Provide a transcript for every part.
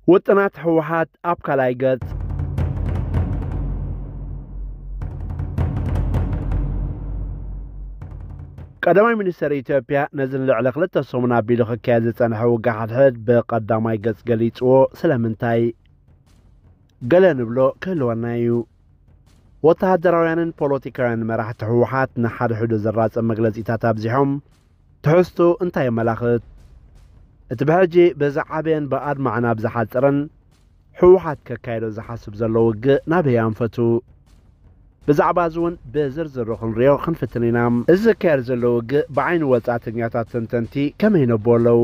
ውጥናት ህወሓት ኣብ ካልኣይ ገጽ። ቀዳማይ ሚኒስተር ኢትዮጵያ ነዚ ንልዕሊ ክልተ ሰሙን ኣቢሉ ክካየድ ዝጸንሐ ውግእ ሓድሕድ ብቐዳማይ ገጽ ገሊጽዎ። ስለምንታይ? ገለ ንብሎ ክህልወና እዩ። ወተሃደራውያንን ፖለቲካውያን መራሕቲ ህወሓት ንሓድሕዱ ዘራጽም መግለጺታት ኣብዚሖም። ትሕዝቱ እንታይ የመላኽት? እቲ ብሕጂ ብዝዓበየን ብኣድማዕን ኣብ ዝሓጽርን ህወሓት ከካየዶ ዝሓስብ ዘሎ ውግእ ናበይ ኣንፈቱ? ብዛዕባ እዚ እውን ብዝርዝር ክንሪኦ ክንፍትን ኢና። እዚ ዝካየድ ዘሎ ውግእ ብዓይኒ ወጻእተኛታት ተንተንቲ ከመይ ይነብዎ ኣለዉ?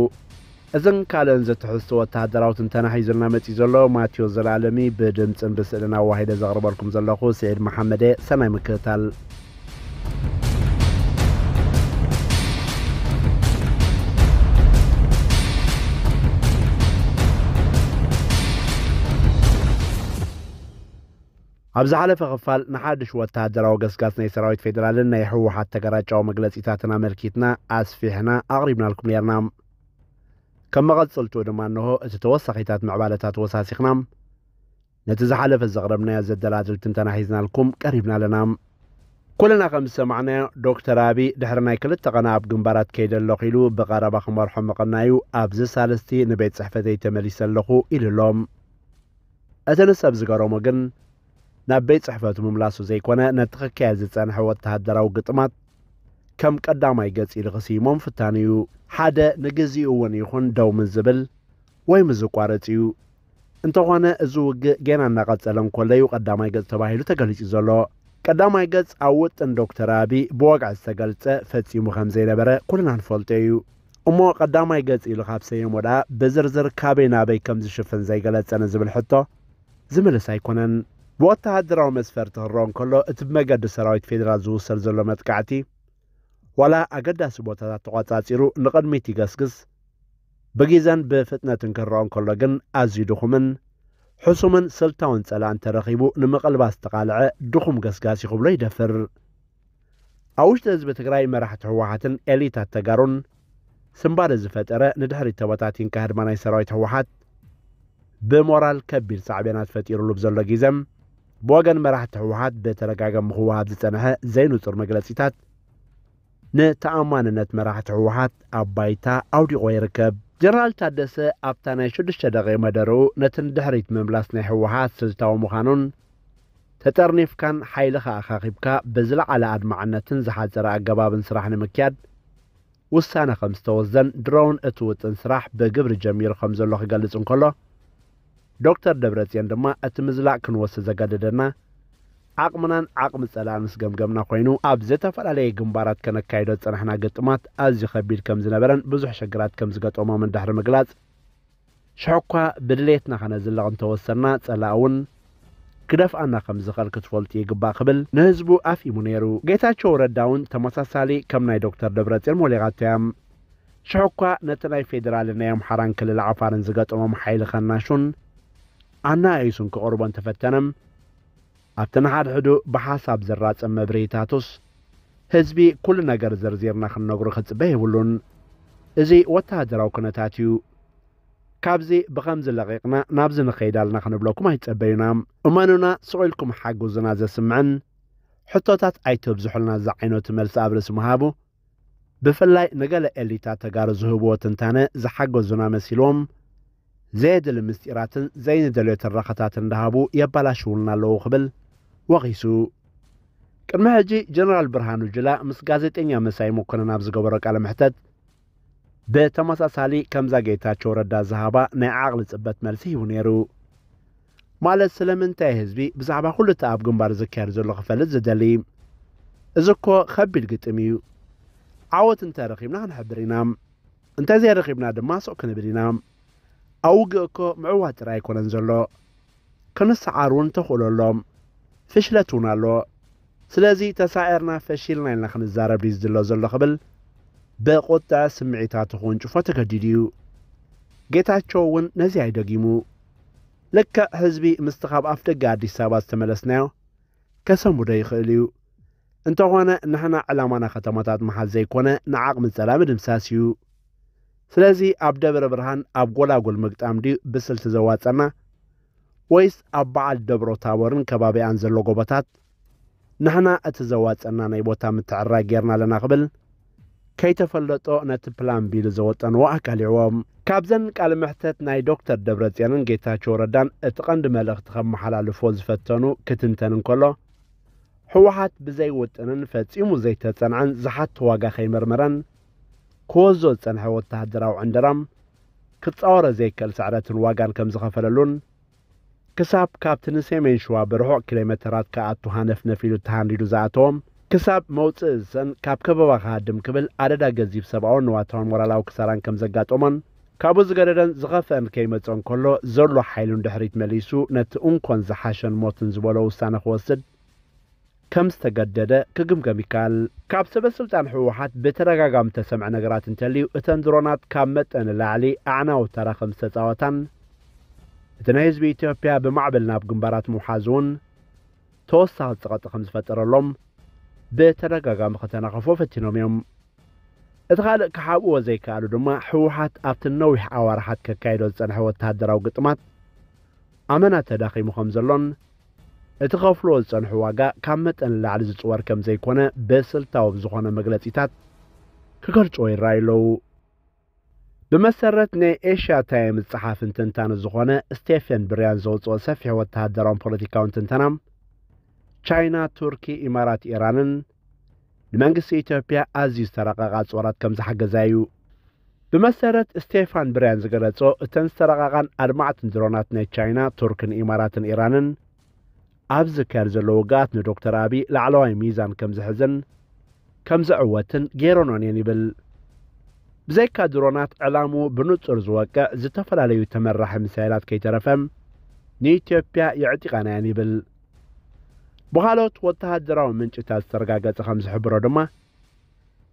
እዝን ካልእን ዘትሕዝቶ ወተሃደራዊ ትንተና ሒዙልና መጺኡ ዘሎ ማቴዎስ ዘላለሚ ብድምጽን ብስእልን ኣዋሂደ ዘቕርበልኩም ዘለኹ ስዒድ መሓመደ። ሰናይ ምክትታል። ኣብ ዝሓለፈ ክፋል ንሓድሽ ወተሃደራዊ ገስጋስ ናይ ሰራዊት ፌደራልን ናይ ህወሓት ተገራጫዊ መግለጺታትን ኣመልኪትና ኣስፊሕና ኣቕሪብናልኩም ነርና። ከም መቐጽልትኡ ድማ እንሆ እቲ ተወሳኺታት ምዕባለታት ወሳሲኽና ነቲ ዝሓለፈ ዘቕረብናዮ ዘደላድል ትንተና ሒዝናልኩም ቀሪብና ኣለና። ኩልና ከም ዝሰማዕናዮ ዶክተር ኣቢ ድሕሪ ናይ ክልተ ቐና ኣብ ግንባራት ከይደ ኣለኹ ኢሉ ብቐረባ ክመርሖ ምቕናዩ ኣብዚ ሳልስቲ ንቤት ጽሕፈተይ ተመሊሰ ኣለኹ ኢሉ ኣሎ። እቲ ንሰብ ዝገረሞ ግን ናብ ቤት ጽሕፈቱ ምምላሱ ዘይኮነ ነቲ ክካየድ ዝጸንሐ ወተሃደራዊ ግጥማት ከም ቀዳማይ ገጽ ኢሉ ክስይሞ ምፍታኑ እዩ። ሓደ ንግዚኡ እውን ይኹን ደው ምስ ዝብል ወይ ምስ ዝቋረጽ እዩ። እንተኾነ እዚ ውግእ ጌና እናቐጸለ እንከሎ እዩ ቀዳማይ ገጽ ተባሂሉ ተገሊጹ ዘሎ። ቀዳማይ ገጽ ኣብ ውጥን ዶክተር ኣቢ ብወግዒ ዝተገልጸ ፈጺሙ ከም ዘይነበረ ኩልና ንፈልጦ እዩ። እሞ ቀዳማይ ገጽ ኢሉ ካብ ሰየሞ ደኣ ብዝርዝር ካበይ ናበይ ከም ዝሽፍን ዘይገለጸ ንዝብል ሕቶ ዝምልስ ኣይኮነን። ብወተሃደራዊ መስፈርቲ ክረኦ እንከሎ እቲ ብመገዲ ሰራዊት ፌደራል ዝውሰድ ዘሎ መጥቃዕቲ ዋላ ኣገዳሲ ቦታታት ተቖጻጺሩ ንቕድሚት ይገስግስ። ብጊዘን ብፍጥነትን ክረኦ እንከሎ ግን ኣዝዩ ድኹምን ሕሱምን ስልታውን ጸላኢ እንተረኺቡ ንምቕልባስ ዝተቓልዐ ድኹም ገስጋስ እዩ ክብሎ ይደፍር። ኣብ ውሽጢ ህዝቢ ትግራይ መራሕቲ ህወሓትን ኤሊታት ተጋሩን ስምባደ ዝፈጠረ ንድሕሪት ተበታቲንካ ህድማ ናይ ሰራዊት ህወሓት ብሞራል ከቢድ ሳዕቤናት ፈጢሩሉ ብዘሎ ጊዘ ብወገን መራሕቲ ህወሓት ብተደጋጋሚ ክወሃብ ዝጸንሐ ዘይንጹር መግለጺታት ንተኣማንነት መራሕቲ ህወሓት ኣብ ባይታ ኣውዲቖ ይርከብ። ጀነራል ታደሰ ኣብታ ናይ ሽዱሽተ ደቂቕ መደረኡ ነቲ ንድሕሪት ምምላስ ናይ ህወሓት ስልታዊ ምዃኑን ተጠርኒፍካን ሓይልኻ ኣኻኺብካ ብዝለዓለ ኣድማዕነትን ዝሓጸረ ኣገባብን ስራሕ ንምክያድ ውሳነ ከም ዝተወስደን ድሮውን እቲ ውጥን ስራሕ ብግብሪ ጀሚሩ ከም ዘሎ ክገልጽ እንከሎ ዶክተር ደብረጽዮን ድማ እቲ ምዝላቕ ክንወስድ ዘገደደና ዓቕምናን ዓቕሚ ጸላእን ምስ ገምገምና ኮይኑ ኣብ ዝተፈላለየ ግንባራት ከነካይዶ ዝጸናሕና ግጥማት ኣዝዩ ከቢድ ከም ዝነበረን ብዙሕ ሽግራት ከም ዝገጠሞምን ድሕሪ ምግላጽ ሽሕኳ ብድሌትና ከነዝልቕ እንተወሰና ጸላእ እውን ክደፍኣና ከም ዝኽእል ክትፈልጡ ይግባእ ክብል ንህዝቡ ኣፍኢሙ ነይሩ። ጌታቸው ረዳ እውን ተመሳሳሊ ከም ናይ ዶክተር ደብረጽዮን ሞሊቓቶ እያ። ሽሕኳ ነቲ ናይ ፌዴራልን ናይ ኣምሓራን ክልል ዓፋርን ዝገጠሞም ሓይሊ ከናሹን ኣናኣይሱን ክቕርቦ እንተፈተነ ኣብቲ ንሓድሕዱ ብሓሳብ ዘራጸም መብርሂታቱስ ህዝቢ ኩሉ ነገር ዘርዚርና ክንነግሮ ክጽበ የብሉን። እዚ ወተሃደራዊ ኩነታት እዩ። ካብዚ ብኸምዚ ለቒቕና ናብዚ ንኸይድ ኣለና ክንብለኩም ኣይትጸበዩና። እመኑና፣ ስቕ ኢልኩም ሓግዙና ዘስምዕን ሕቶታት ኣይተብዝሑልና ዝዓይነቱ መልሲ ኣብ ርእሲ ምሃቡ ብፍላይ ንገለ ኤሊታት ተጋሩ ዝህብዎ ትንታነ ዝሓገዙና መሲልዎም ዘየድሊ ምስጢራትን ዘይንደልዮ ትረኻታትን እንዳሃቡ የባላሽውልና ኣለዉ ክብል ወቒሱ። ቅድሚ ሕጂ ጀነራል ብርሃኑ ጁላ ምስ ጋዜጠኛ መሳይ መኮነን ኣብ ዝገበሮ ቃለ መሕተት ብተመሳሳሊ ከምዛ ጌታቸው ረዳ ዝሃባ ናይ ዓቕሊ ጽበት መልሲ ሂቡ ነይሩ። ማለት ስለምንታይ ህዝቢ ብዛዕባ ኩሉ እቲ ኣብ ግንባር ዝካየድ ዘሎ ክፈልጥ ዝደሊ? እዚ እኮ ከቢድ ግጥም እዩ። ዓወት እንተረኺብና ክንሕብር ኢና፣ እንተዘይረኺብና ድማ ስቕ ክንብል ኢና። ኣብ ውግእ እኮ ምዕዋት ጥራይ ኣይኮነን ዘሎ፣ ክንሰዓር እውን ተኽእሎ ኣሎ፣ ፍሽለት እውን ኣሎ። ስለዚ ተሳዒርና ፈሺልና ኢልና ክንዛረብ ድዩ ዝድሎ ዘሎ ክብል ብቁጥዐ ስምዒታቱ ክውንጭፎ ተገዲዱ እዩ። ጌታቸው እውን ነዚ ኣይደጊሙ። ልክዕ ህዝቢ ምስቲ ካብ ኣፍደገ ኣዲስ ኣበባ ዝተመለስናዮ ከሰንብዶ ይኽእል እዩ። እንተኾነ ንሕና ዕላማና ከተማታት ምሓዝ ዘይኮነ ንዓቕሚ ጸላኢ ምድምሳስ እዩ። ስለዚ ኣብ ደብረ ብርሃን ኣብ ጎላጉል ምግጣም ድዩ ብስልቲ ዘዋጸና፣ ወይስ ኣብ በዓል ደብሮ ታቦርን ከባቢኣን ዘሎ ጎቦታት ንሕና እቲ ዘዋጸና ናይ ቦታ ምትዕርራይ ጌርና ኣለና ክብል ከይተፈለጦ ነቲ ፕላን ቢ ኢሉ ዘወጠንዎ ኣቃሊዕዎ። ካብዘን ቃለ መሕተት ናይ ዶክተር ደብረጽዮንን ጌታቸው ረዳን እቲ ቀንዲ መልእኽቲ ከመሓላልፎ ዝፈተኑ ክትንተን እንከሎ፣ ህወሓት ብዘይ ውጥንን ፈጺሙ ዘይተጸንዐን ዝሓቶ ዋጋ ከይመርመረን ክወዞ ዝጸንሐ ወተሃደራዊ ዕንደራም ክጻወሮ ዘይክእል ስዕረትን ዋጋን ከም ዝኸፈለሉን ክሳብ ካብቲ ንሰሜን ሸዋ ብርሑቕ ኪሎ ሜተራት ክኣቱ ሃነፍነፍ ኢሉ ተሃንዲዱ ዝኣተዎም ክሳብ መውጽእ ዝሰን ካብ ከበባ ክሃድም ክብል ኣደዳ ገዚፍ ሰብኣውን ንዋታውን ሞራላዊ ክሳራን ከም ዘጋጠሞን ካብኡ ዝገደደን ዝኸፍአን ከይመጽኦ እንከሎ ዘሎ ሓይሉን ድሕሪት መሊሱ ነቲ እንኮን ዝሓሸን ሞትን ዝበሎ ውሳነ ክወስድ ከም ዝተገደደ ክግምገም ይከኣል። ካብ ሰበ ስልጣን ህወሓት ብተደጋጋሚ ተሰምዐ ነገራት እንተልዩ እተን ድሮናት ካብ መጠን ንላዕሊ ኣዕናዊ ተራ ከም ዝተጻወታን እቲ ናይ ህዝቢ ኢትዮጵያ ብማዕበል ናብ ግንባራት ምውሓዝ እውን ተወሳኺ ጸቕጢ ከም ዝፈጠረሎም ብተደጋጋሚ ከተናኸፎ ፈቲኖም እዮም። እቲ ካልእ ክሓብእዎ ዘይከኣሉ ድማ ህወሓት ኣብቲ ነዊሕ ኣዋርሓት ከካይዶ ዝጸንሐ ወተሃደራዊ ግጥማት ኣመና ተዳኺሙ ከም ዘሎን እቲ ከፍልዎ ዝጸንሑ ዋጋ ካብ መጠን ንላዕሊ ዝጽወር ከም ዘይኮነ ብስልታዊ ብዝኾነ መግለጺታት ክገልጽዎ ይረኣዩ ኣለዉ። ብመሰረት ናይ ኤሽያ ታይምስ ጸሓፍን ተንታኒ ዝኾነ ስቴፈን ብርያን ዘውጽኦ ሰፊሕ ወተሃደራውን ፖለቲካውን ትንተና፣ ቻይና፣ ቱርኪ፣ ኢማራት፣ ኢራንን ንመንግስቲ ኢትዮጵያ ኣዝዩ ዝተራቐቐ ኣጽዋራት ከም ዝሓገዛ እዩ። ብመሰረት ስቴፋን ብርያን ዝገለጾ፣ እተን ዝተራቐቓን ኣድማዕትን ድሮናት ናይ ቻይና፣ ቱርክን ኢማራትን ኢራንን ኣብ ዝካየድ ዘሎ ውግኣት ንዶክተር ኣቢ ላዕለዋይ ሚዛን ከም ዝሕዝን ከም ዝዕወትን ገይረኖን እየን ይብል። ብዘይካ ድሮናት ዕላምኡ ብንጹር ዝወቅዕ ዝተፈላለዩ ተመራሒ ሚሳይላት ከይተረፈ ንኢትዮጵያ የዕጢቐናየን ይብል። ብኻልኦት ወተሃደራዊ ምንጭታት ዝተረጋገጸ ከም ዝሕብሮ ድማ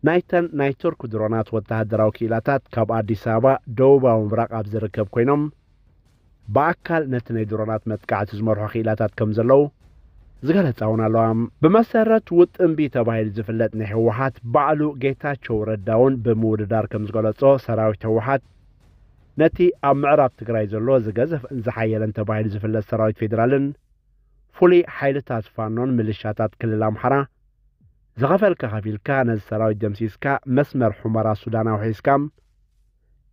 ናይተን ናይ ቱርክ ድሮናት ወተሃደራዊ ክኢላታት ካብ ኣዲስ ኣበባ ደቡባዊ ምብራቕ ኣብ ዝርከብ ኮይኖም ብኣካል ነቲ ናይ ድሮናት መጥቃዕቲ ዝመርሑ ክኢላታት ከም ዘለዉ ዝገለጻ እውን ኣለዋ። ብመሰረት ውጥን ቢ ተባሂሉ ዝፍለጥ ናይ ህወሓት ባዕሉ ጌታቸው ረዳ እውን ብምውድዳር ከም ዝገለጾ ሰራዊት ህወሓት ነቲ ኣብ ምዕራብ ትግራይ ዘሎ ዝገዘፈን ዝሓየለን ተባሂሉ ዝፍለጥ ሰራዊት ፌዴራልን ፍሉይ ሓይልታት ፋኖን ምልሻታት ክልል ኣምሓራ ዝኸፈልካ ከፊልካ ነዚ ሰራዊት ደምሲስካ መስመር ሑመራ ሱዳን ኣውሒስካ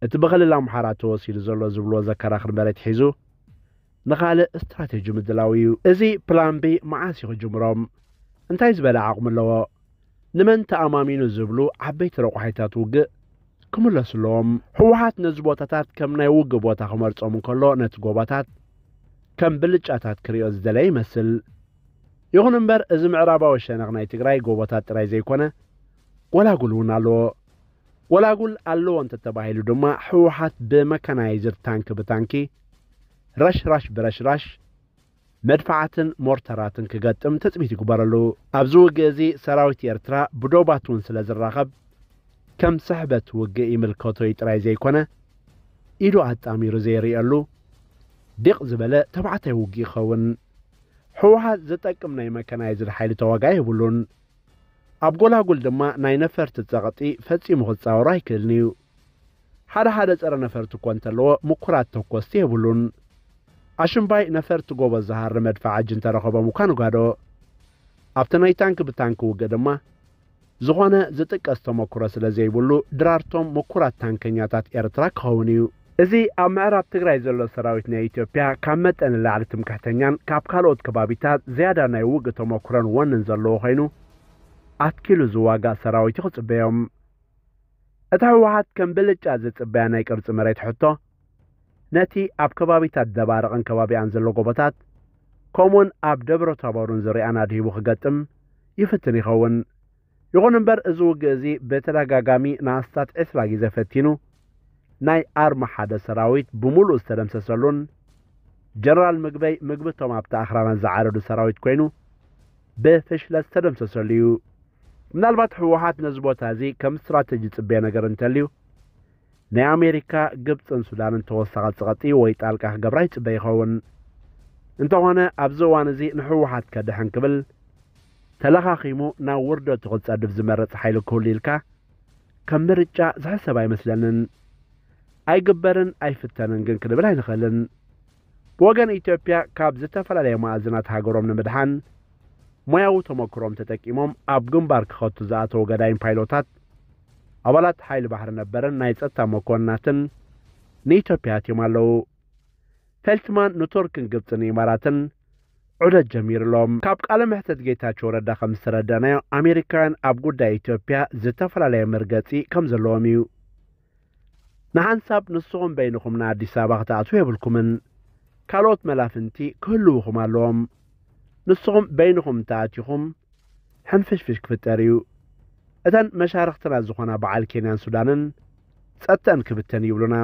እቲ ብክልል ኣምሓራ ተወሲዱ ዘሎ ዝብልዎ ዘከራኽር መሬት ሒዙ ንኻልእ ስትራቴጂ ምድላው እዩ። እዚ ፕላን ቢ መዓስ እዩ ክጅምሮም? እንታይ ዝበለ ዓቕሚ ኣለዎ? ንመን ተኣማሚኑ ዝብሉ ዓበይቲ ረቋሒታት ውግእ ክምለሱ ኣለዎም። ህወሓት ነዚ ቦታታት ከም ናይ ውግእ ቦታ ክመርጾም እንከሎ ነቲ ጎባታት ከም ብልጫታት ክሪኦ ዝደለየ ይመስል። ይኹን እምበር እዚ ምዕራባዊ ሸነኽ ናይ ትግራይ ጎቦታት ጥራይ ዘይኮነ ጎላጉል እውን ኣለዎ። ጎላጉል ኣለዎ እንተተባሂሉ ድማ ህወሓት ብመካናይዝድ ታንኪ ብታንኪ ረሽራሽ ብረሽራሽ መድፍዓትን ሞርተራትን ክገጥም ትጽቢት ይግበረሉ። ኣብዚ ውግእ እዚ ሰራዊት ኤርትራ ብዶባት እውን ስለ ዝራኸብ ከም ስሕበት ውግእ ይምልከቶ እዩ ጥራይ ዘይኮነ ኢዱ ኣጣሚሩ ዘይርእየሉ ዲቕ ዝበለ ተባዕታይ ውግእ ይኸውን። ህወሓት ዝጠቅም ናይ መካናይዝድ ሓይሊ ተዋጋኢ የብሉን። ኣብ ጎላጉል ድማ ናይ ነፈርቲ ጸቕጢ ፈጺሙ ክጻወሮ ኣይክእልን እዩ። ሓደ ሓደ ጸረ ነፈርቲ እኮ እንተለዎ ምኩራት ተኮስቲ የብሉን። ኣሽምባይ ነፈርቲ ጎበዝ ዝሃሪ መድፍዓ እጅ እንተረኸቦም እኳ ንጓዶ። ኣብቲ ናይ ታንኪ ብታንኪ ውግእ ድማ ዝኾነ ዝጥቀስ ተመኩሮ ስለ ዘይብሉ ድራርቶም ምኩራት ታንከኛታት ኤርትራ ክኸውን እዩ። እዚ ኣብ ምዕራብ ትግራይ ዘሎ ሰራዊት ናይ ኢትዮጵያ ካብ መጠን ንላዕሊ ትምክሕተኛን ካብ ካልኦት ከባቢታት ዝያዳ ናይ ውግእ ተመኩሮን ወንን ዘለዎ ኮይኑ ኣትኪሉ ዝዋጋእ ሰራዊት እዩ ክጽበዮም። እቲ ህወሓት ከም ብልጫ ዝጽበያ ናይ ቅርጺ መሬት ሕቶ ነቲ ኣብ ከባቢታት ደባርቕን ከባቢኣን ዘሎ ጎቦታት ከምኡውን ኣብ ደብረ ታቦርን ዝርያን ኣድሂቡ ክገጥም ይፍትን ይኸውን። ይኹን እምበር እዚ ውግእ እዚ ብተደጋጋሚ ንኣስታት ዕስራ ግዜ ፈቲኑ ናይ ኣርማ ሓደ ሰራዊት ብምሉእ ዝተደምሰሰሉን ጀነራል ምግበይ ምግብቶም ኣብቲ ኣኽራናት ዝዓረዱ ሰራዊት ኮይኑ ብፍሽለት ዝተደምሰሰሉ እዩ። ምናልባት ህወሓት ነዚ ቦታ እዚ ከም ስትራተጂ ዝጽበዮ ነገር እንተልዩ ናይ ኣሜሪካ፣ ግብጽን ሱዳንን ተወሳኺ ጸቕጢ ወይ ጣልቃ ክገብራ ይጽበ ይኸውን። እንተኾነ ኣብዚ እዋን እዚ ንህወሓት ከድሕን ክብል ተለኻኺሙ ናብ ውርደቱ ክጸድፍ ዝመርጽ ሓይሊ ክህሉ ኢልካ ከም ምርጫ ዝሕሰብ ኣይመስለንን። ኣይግበርን ኣይፍተንን ግን ክንብል ኣይንኽእልን። ብወገን ኢትዮጵያ ካብ ዝተፈላለየ መኣዝናት ሃገሮም ንምድሓን ሞያዊ ተመክሮም ተጠቂሞም ኣብ ግንባር ክኸቱ ዝኣተዉ ገዳይም ፓይሎታት ኣባላት ሓይሊ ባሕሪ ነበርን ናይ ጸጥታ መኮንናትን ንኢትዮጵያ ኣትዮም ኣለዉ። ፌልትማን ንቱርክን ግብጽን ኢማራትን ዑደት ጀሚሩሎም። ካብ ቃለ መሕተት ጌታቸው ረዳ ከም ዝተረዳእናዮ ኣሜሪካውያን ኣብ ጉዳይ ኢትዮጵያ ዝተፈላለየ መርገጺ ከም ዘለዎም እዩ። ንሓንሳብ ንስኹም በይንኹም ንኣዲስ ኣበባ ክትኣትዉ የብልኩምን። ካልኦት መላፍንቲ ክህልውኹም ኣለዎም። ንስኹም በይንኹም እንተኣቲኹም ሕንፍሽፍሽ ክፍጠር እዩ። እተን መሻርኽትና ዝኾና በዓል ኬንያን ሱዳንን ጸጥተን ክብተን ይብሉና።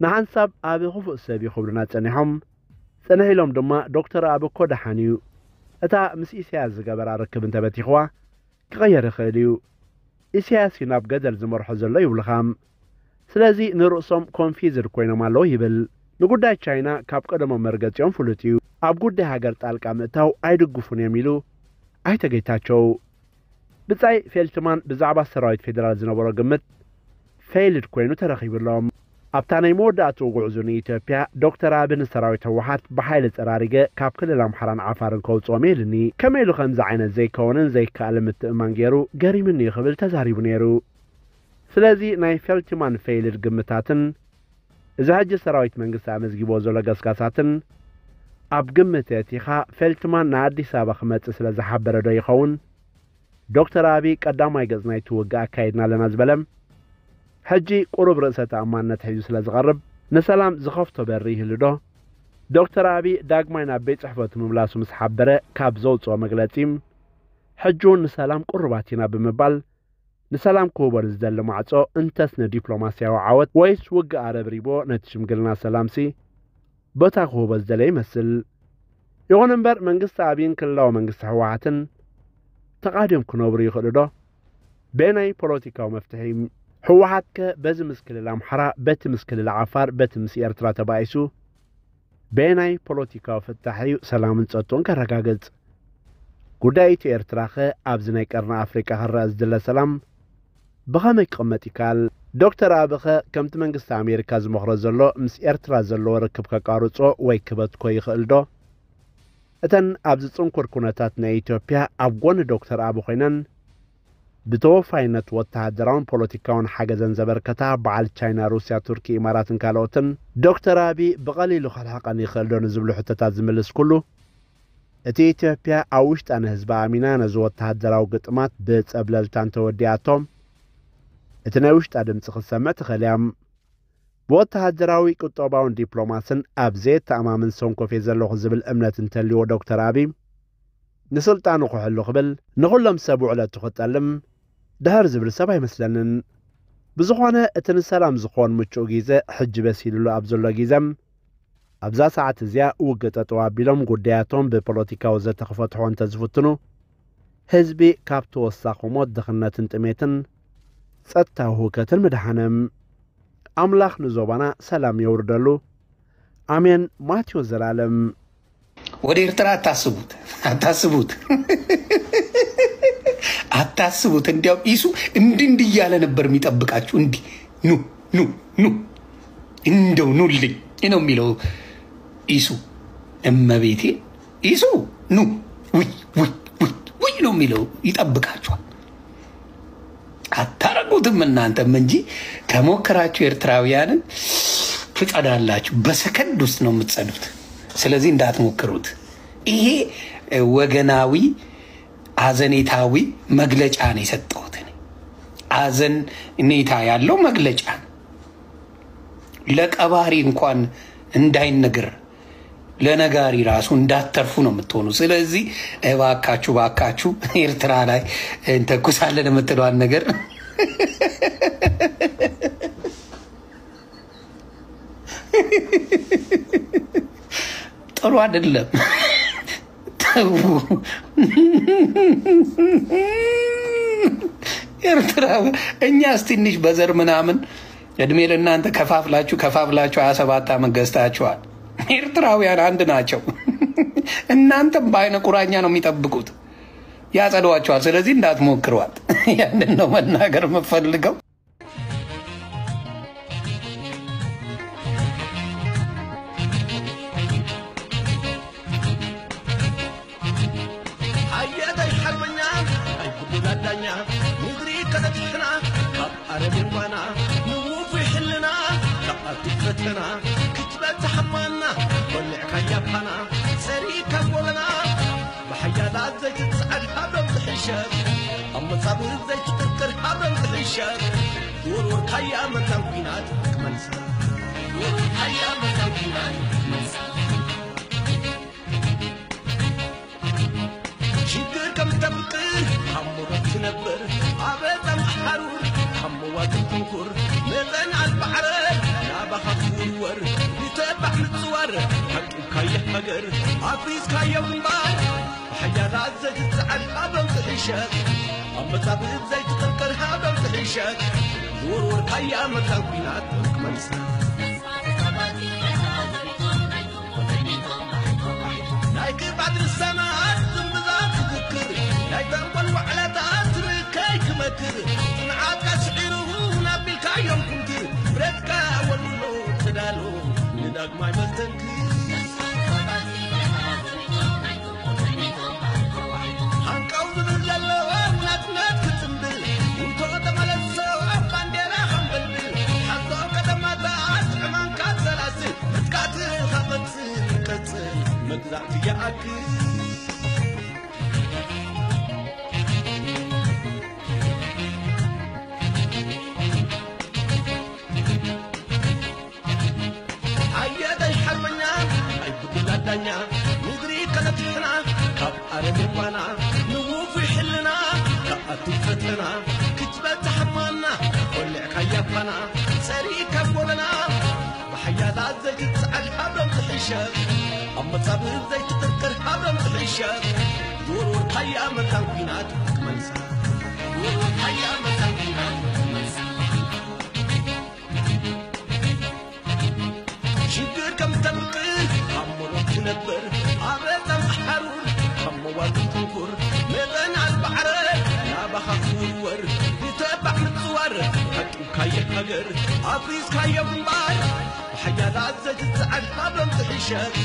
ንሓንሳብ ኣበ ክፉእ ሰብ እዩ ክብሉና ጸኒሖም። ጽንሕ ኢሎም ድማ ዶክተር ኣበ እኮ ደሓን እዩ። እታ ምስ ኢሳያስ ዝገበራ ርክብ እንተበቲኽዋ ክቐየር ይኽእል እዩ። ኢሳያስ እዩ ናብ ገደል ዝመርሖ ዘሎ ይብሉኻ። ስለዚ ንርእሶም ኮንፊዝድ ኮይኖም ኣለዉ ይብል። ንጉዳይ ቻይና ካብ ቀደሞም መርገጺኦም ፍሉጥ እዩ። ኣብ ጉዳይ ሃገር ጣልቃ ምእታው ኣይድግፉን እዮም ኢሉ ኣይተ ጌታቸው። ብጻይ ፌልትማን ብዛዕባ ሰራዊት ፌደራል ዝነበሮ ግምት ፌይልድ ኮይኑ ተረኺብሎም። ኣብታ ናይ መወዳእትኡ ጉዕዙ ንኢትዮጵያ ዶክተር ኣቢ ንሰራዊት ህወሓት ብሓይሊ ጸራሪገ ካብ ክልል ኣምሓራን ዓፋርን ከውጽኦም ኢልኒ። ከመይ ኢሉ ከምዚ ዓይነት ዘይከውንን ዘይከኣልን ምትእማን ገይሩ ገሪምኒ እዩ ክብል ተዛሪቡ ነይሩ። ስለዚ ናይ ፌልትማን ፌይልድ ግምታትን እዚ ሕጂ ሰራዊት መንግስቲ ኣመዝጊቦ ዘሎ ገስጋሳትን ኣብ ግምት የእቲኻ ፌልትማን ንኣዲስ ኣበባ ክመጽእ ስለ ዝሓበረ ዶ ይኸውን? ዶክተር ኣቢ ቀዳማይ ገጽ ናይቲ ውግእ ኣካይድና ኣለና ዝበለ ሕጂ ቁሩብ ርእሰ ተኣማንነት ሒዙ ስለ ዝቐርብ ንሰላም ዝኸፍቶ በሪ ይህሉ ዶ? ዶክተር ኣቢ ዳግማይ ናብ ቤት ጽሕፈቱ ምምላሱ ምስ ሓበረ ካብ ዘውጽኦ መግለጺ ሕጂ እውን ንሰላም ቁሩባት ኢና ብምባል ንሰላም ክህቦ ንዝደሊ ማዕጾ እንተስ ንዲፕሎማስያዊ ዓወት ወይስ ውግእ ኣረብሪቦ ነቲ ሽምግልና ሰላምሲ ቦታ ክህቦ ዝደለየ ይመስል። ይኹን እምበር መንግስቲ ኣብይን ክልላዊ መንግስቲ ህወሓትን ተቓዲዮም ክነብሩ ይኽእሉ ዶ? በየናይ ፖለቲካዊ መፍትሒ? ህወሓትከ በዚ ምስ ክልል ኣምሓራ፣ በቲ ምስ ክልል ዓፋር፣ በቲ ምስ ኤርትራ ተባኢሱ በየናይ ፖለቲካዊ ፍታሕ እዩ ሰላምን ጸጥታን ከረጋግጽ? ጉዳይ ኢትዮ ኤርትራኸ ኣብዚ ናይ ቀርኒ ኣፍሪቃ ክረኣ ዝድለ ሰላም ብኸመይ ክቕመጥ ይከኣል? ዶክተር ኣብኸ ከምቲ መንግስቲ ኣሜሪካ ዝመኽሮ ዘሎ ምስ ኤርትራ ዘለዎ ርክብ ከቃርጾ ወይ ክበትኮ ይኽእል ዶ? እተን ኣብዚ ጽንኩር ኩነታት ናይ ኢትዮጵያ ኣብ ጎኒ ዶክተር ኣቢ ኮይነን ብተወፋይነት ወተሃደራውን ፖለቲካውን ሓገዘን ዘበርከታ በዓል ቻይና፣ ሩስያ፣ ቱርኪ፣ ኢማራትን ካልኦትን ዶክተር ኣቢ ብቐሊሉ ክልሕቐን ይኽእል ዶ ንዝብሉ ሕቶታት ዝምልስ ኩሉ እቲ ኢትዮጵያ ኣብ ውሽጣ ንህዝባ ኣሚና ነዚ ወተሃደራዊ ግጥማት ብጸብለልታ እንተወዲኣቶ እቲ ናይ ውሽጣ ድምጺ ክትሰምዕ ትኽእል እያ። ብወተሃደራዊ፣ ቁጠባውን ዲፕሎማስን ኣብ ዘየተኣማምን ሰንኮፍ እየ ዘለኹ ዝብል እምነት እንተልዎ ዶክተር ኣቢ ንስልጣኑ ክሕሉ ክብል ንኹሎም ሰብ ውዕለቱ ክጠልም ድሕር ዝብል ሰብ ኣይመስለንን። ብዝኾነ እቲ ንሰላም ዝኾን ምቹእ ግዜ ሕጂ በሲሉሉ ኣብ ዘሎ ግዘም ኣብዛ ሰዓት እዚኣ ውግእ ጠጠው ኣቢሎም ጉዳያቶም ብፖለቲካዊ ዘተ ክፈትሖ እንተዝፍትኑ ህዝቢ ካብ ተወሳኺ ሞት ድኽነትን ጥሜትን ጸጥታዊ ህውከትን ምድሓነ። ኣምላኽ ንዞባና ሰላም የውርደሉ። ኣሜን። ማቴዎስ ዘላለም። ወደ ኤርትራ አታስቡት፣ አታስቡት፣ አታስቡት። እንዲያውም ኢሱ እንዲህ እንዲህ እያለ ነበር የሚጠብቃችሁ። እንዲህ ኑ ኑ ኑ እንደው ኑልኝ ነው የሚለው ኢሱ። እመቤቴ ኢሱ ኑ ውይ ውይ ውይ ውይ ነው የሚለው፣ ይጠብቃችኋል። አታረጉትም እናንተም እንጂ ከሞከራችሁ ኤርትራውያንን ትጸዳላችሁ። በሰከንድ ውስጥ ነው የምትጸዱት። ስለዚህ እንዳትሞክሩት። ይሄ ወገናዊ አዘኔታዊ መግለጫ ነው የሰጠሁት። አዘኔታ ያለው መግለጫ ነው። ለቀባሪ እንኳን እንዳይነገር ለነጋሪ ራሱ እንዳትተርፉ ነው የምትሆኑ። ስለዚህ እባካችሁ እባካችሁ ኤርትራ ላይ እንተኩሳለን የምትለዋን ነገር ጥሩ አይደለም። ተው። ኤርትራ እኛስ ትንሽ በዘር ምናምን እድሜ ለእናንተ ከፋፍላችሁ ከፋፍላችሁ ሃያ ሰባት ዓመት ገዝታችኋል። ኤርትራውያን አንድ ናቸው። እናንተም በአይነ ቁራኛ ነው የሚጠብቁት፣ ያጸዷችኋል። ስለዚህ እንዳትሞክሯት። ያንን ነው መናገር የምፈልገው። ተበቲሕና ካብ ኣረብን ጓና ንውፉይ ሕልና ካብ ኣርቲክ ፈተና ክትበጽሕ ኣማና በሊዕካያ ፋና ጸሪእካ ጎበና ብሓያላት ዘይትጽዓድ ሃብረም ትሕሸብ ኣብ መጻብብ ዘይትጥርጥር ሃብረም ትሕሸብ ዝወርወርካያ መታን ኲናት ክመልሳ ዝወርወርካያ መታን ኲናት ክመልሳ ሽግር ከም ተምጥር ኣብ ሞሮት ትነብር ኣብ ጸምእ ሓሩር ካብ መዋግብ ትንኩር መጠን ኣልባዕረ ናባኻ ትውርወር ንተባዕ ምጽዋር ሓቂብካያ ሃገር ኣፍሪስካዮ ግንባር ብሓያላት ዘይትጽዓድ ሃብረም ትሕሸት ኣብ መጻብብ ዘይትጥርጥር ሃብረም ትሕሸት ዝወርወርካያ መታን ኲናት ክመልሳ ናይ ክብዓት ልሳናት ዝምብዛ ትዝክር ናይ ተንኮል ዋዕላታት ርካይ ክመክር ጽንዓትካ ስዒሩ ናቢልካዮም ኩምትር ብረትካ ወልውሎ ተዳሎ ንዳግማይ መስተንክር ሃንቀው ዝብል ዘለዎ ናጽነት ክጽንብል ውቶ ተመለሶ ባንዴራ ከንበልብል ሓዞ ከተማታት ዕማንካ ሰላስል ምጥቃትኻ ቀጽል ቀጽል መግዛእቲ ይኣክል ኣየደይ ሓርበኛ ናይ ብጉላ ዳኛ ምድሪ ከነትሕና ካብ ኣረሜባና ንውፉይ ሕልና ካብ ኣትፈተና ክትበጽሕ ማና ቆልዕካ ያፋና ጸሪእካ ጎበና ብሓያላት ዘይትጽዓድ ሃብሮም ትሕሸብ ኣብ መጻብብ ዘይትጥርጥር ሃብሮም ትሕሸብ ዝወርወርካያ መታን ኲናት ክመልሳ ዝወርወርካያ መታን ኲናት ክመልሳ ሽግር ከም ተምጥር ኣብ መሮት ትነብር ኣብ ረጸም ሓሩር ካብ መዋግብ ትንኩር መጠን ኣልባዕረ ናባኻ ክውርወር ንተባዕ ምጽዋር ሓቂብካየ ሃገር ኣፍሪስካዮ ግንባር ብሓያላት ዘይትጽዓድ ሃብሮም ትሕሸት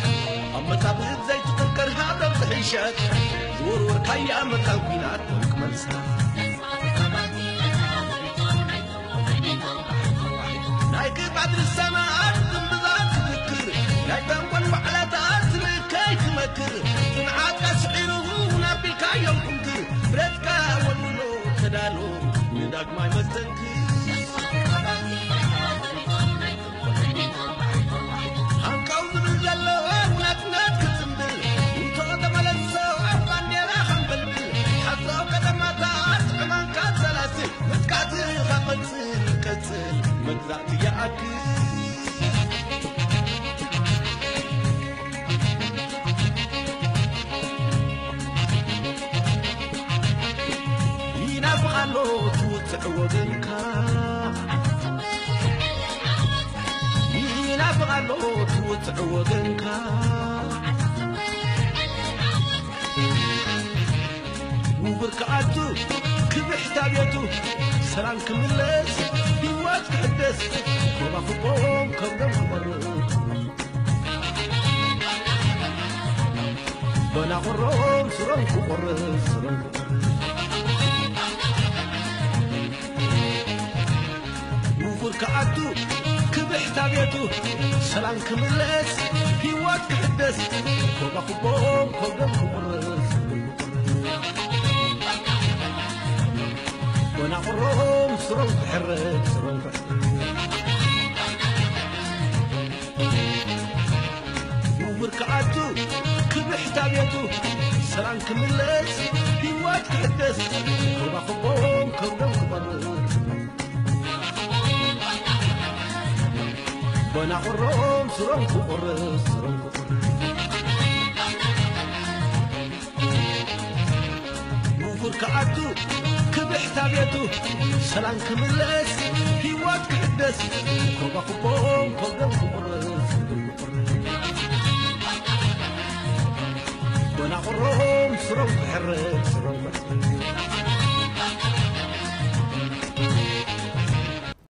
ኣብ መጻብብ ዘይትጥርቀር ሃብሮም ትሕሸት ዝወርወርካያ መታን ኲናት ክመልሳ ናይ ክብዓት ልሳናት ዝምብዛ ትዝክር ናይ ተንኮል ዋዕላታት ትብከይ ትመክር ጽንዓትካ ስዒሩ ናቢልካዮም ኩምክር ብረትካ ወልውሎ ተዳሎ ንዳግማይ መስተንክር ሃንቀው ዝብል ዘሎ ናጽነት ክጽንብል ውቶ ተመለሶ ባንዴራ ከንበልብል ሓሳብ ከተማታት ዕማንካ ሰላስል ምጥቃትኻ ቀጽል ቀጽል መግዛእቲ ይኣክል ይናፍቕ ኣሎ ትውፅዕ ወገንካ ይናፍቕ ኣሎ ትውፅዕ ወገንካ ውብር ክኣቱ ክብሕታ ቤቱ ሰላም ክምለስ ህይወት ክሕደስ ኮባኽቦም ከብዶም ክቆርብ በናቑሮም ስሮም ክቆርብ ስሮም ክቆርብ ውፉር ክኣቱ ክብሕታ ቤቱ ሰላም ክምለስ ህይወት ክሕደስ ኮባኽቦም ከብዶም ክቆርብ ወናቑሮም ስሮም ክሕረድ ስሮም ክሕረድ ውቡር ክኣቱ ክብሕታ ቤቱ ሰላም ክምለስ ህይወት ክሕደስ ኮባኽቦም ከብዶም ክቐርብ ወናቑሮም ስሮም ክቑርስ ስሮም ክቑርስ ውፉር ክኣቱ ክብሕታ ቤቱ ሰላም ክምለስ ህይወት ክሕደስ